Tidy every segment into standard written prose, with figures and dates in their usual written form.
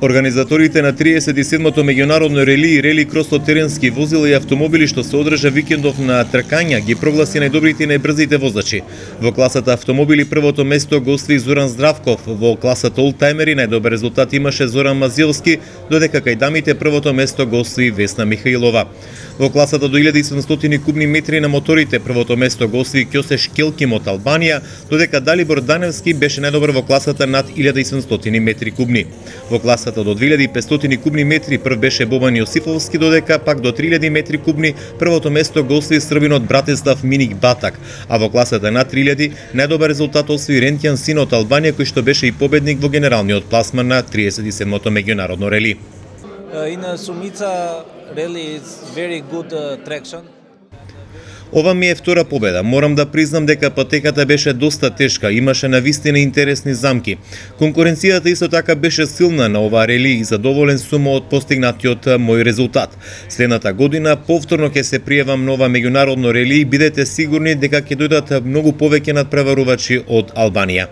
Организаторите на 37-то меѓународно рели и рели кросо теренски возила и автомобили што се одржа викендов на тркања ги прогласи најдобрите и најбрзите возачи. Во класата автомобили првото место го освои Зоран Здравков, во класата олтајмери најдобар резултат имаше Зоран Мазилски, додека кај дамите првото место го освои Весна Михаилова. Во класата до 1700 кубни метри на моторите првото место го освои Ќосе Шкелким од Албанија, додека Далибор Даневски беше најдобар во класата над 1700 метри кубни. Во класата до 2500 кубни метри прв беше Бобан Јосифовски, додека пак до 3000 метри кубни првото место го освои србинот Братислав Миник Батак, а во класата над 3000 најдобар резултат освои Рентјан Сино од Албанија, кој што беше и победник во генералниот пласман на 37-то меѓународно рели. In Sumica rally is very good traction. Ова ми е втора победа. Морам да признам дека патеката беше доста тешка, имаше навистина интересни замки. Конкуренцијата исто така беше силна на ова рели и задоволен сум од постигнатиот мој резултат. Следната година повторно ќе се пријавам на ова меѓународно рели и бидете сигурни дека ќе дојдат многу повеќе надпреварувачи од Албанија.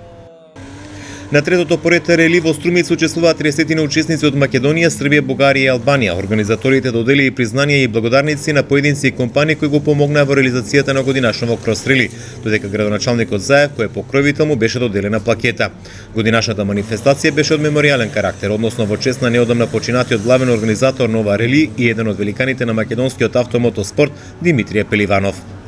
На третото поред рели во Струмица учествуваат 30 учесници од Македонија, Србија, Бугарија и Албанија. Организаторите доделија и признанија и благодарници на поединци и компании кои го помогнаа во реализацијата на годинашното крос рели, додека градоначалникот Заев, кој е покровител, му беше доделена плакета. Годинашната манифестација беше од меморијален карактер, односно во чест на неодамна починатиот главен организатор на ова рели и еден од великаните на македонскиот автомотоспорт Димитрije Пеливанов.